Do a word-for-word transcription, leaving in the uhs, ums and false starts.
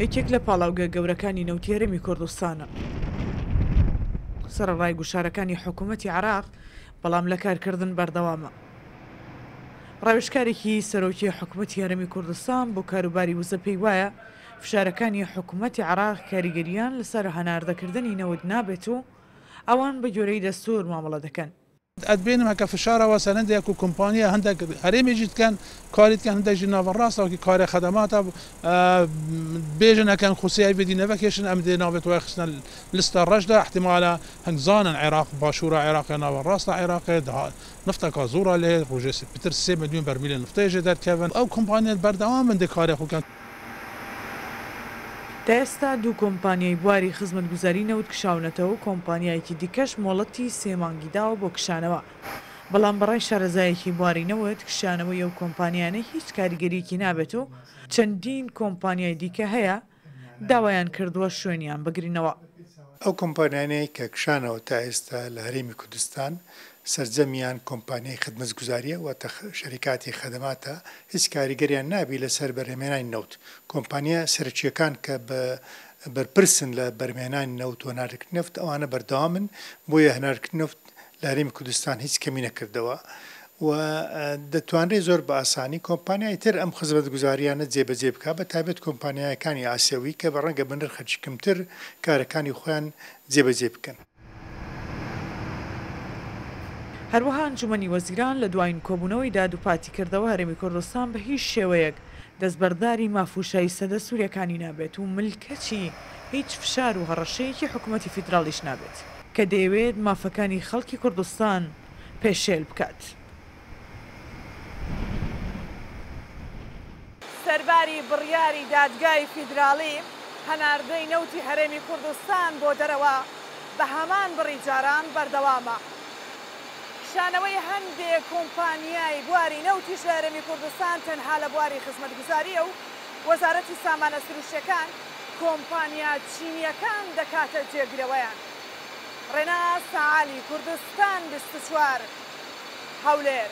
یەکێک لە پاڵاوگە گەورەکانی نەوتی هەرێمی کوردستانە. سەرەڕای گوشارەکانی حکوومەتی عێراق، بەڵام لە کارکردن بەردەوامە. ڕاوێژکارێکی سەرۆکی حکوومەتی هەرێمی کوردستان بۆ کاروباری وزە پێی وایە فشارەکانی حکوومەتی عێراق کاریگەریان لەسەر هەناردەکردنی نەوت نابێت و ئەوان بە گوێرەی دەستوور مامەڵە دەکەن. ئەتبینم هەکە فشارەوە سەرندێک و کۆمپانیا هەندێک هەرێمێکی دکەن کاری دکەن هەندێک ناوەڕاستە وەکی کارێ خەدەماتە بێژن هەکەن خوسیای بدی نەبەکێشن ئەم دێ ناوێت وای خستنە لستە ڕەشدا احتیمالە هەنگزانن عێراق باشوورە عێراق ناوەڕاستە عێراقێ نفتەکە زۆرە لێ ڕۆژێ پتر سێ ملیۆن بەرمیل نفتەیە دەرکەون ئەو کۆمپانیا بەردەوام بن دێ کارێ خۆکەن. تا ئێستا دوو کۆمپانیای بواری خزمەتگوزاری نەوت کشاونەتەوە و کۆمپانیایەکی دیکەش مۆڵەتی سێ مانگی داوە بۆ کشانەوە، بەڵام بەڕای شارەزایەکی بواری نەوت کشانەوەی ئەو کۆمپانیانە هیچ کاریگەریەکی نابێت و چەندین کۆمپانیای دیکە هەیە داوایان کردووە شوێنیان بگرنەوە. ئەو کۆمپانیانەی کە کشانەوە تا ئێستا لە هەرێمی کوردستان سەرجەمیان کۆمپانیای خدمەتگوزاریە واتە شەریکاتی خەدەماتە هیچ کاریگەریان نابی لەسەر بەرهەمهێنانی نەوت. کۆمپانیا سەرەکییەکان کە بە بەرپرسن لە بەرهەمهێنانی نەوت و هەناردەکردنی نەفت ئەوانە بەردەوامن، بۆیە هەناردەکردنی نەفت لە هەرێمی کوردستان هیچ کەمی نەکردەوە و دەتوانرێت زۆر بە ئاسانی کۆمپانیای تر ئەم خزمەتگوزاریانە جێبەجێ بکات، بە تایبەت کۆمپانیایەکانی ئاسیاوی کە بە ڕەنگە بە نرخێکی کەمتر کارەکانی خۆیان جێبەجێ بکەن. هەروەها ئەنجومەنی وەزیران لە دوایین کۆبوونەوەیدا دووپاتی کردەوە هەرێمی کوردستان بە هیچ شێوەیەک دەستبەرداری ماف و شایستە دەستووریەکانی نابێت و ملکەچی هیچ فشار و هەڕەشەیەکی حکوومەتی فیدراڵیش نابێت کە دەیەوێت مافەکانی خەڵکی کوردستان پێشێل بکات. سەرباری بڕیاری دادگای فیدراڵی هەناردەی نەوتی هەرێمی کوردستان بۆ دەرەوە بە هەمان بڕی جاران بەردەوامە. کشانەوەی هەندێک کۆمپانیای بواری نەوتیش لە هەرێمی کوردستان تەنها لە بواری خزمەتگوزاریە و وەزارەتی سامانە سروشتیەکان کۆمپانیا چینیەکان دەکاتە جێگرەوەیان. ڕێناس عالی، کوردستان بیست و چوار، هەولێر.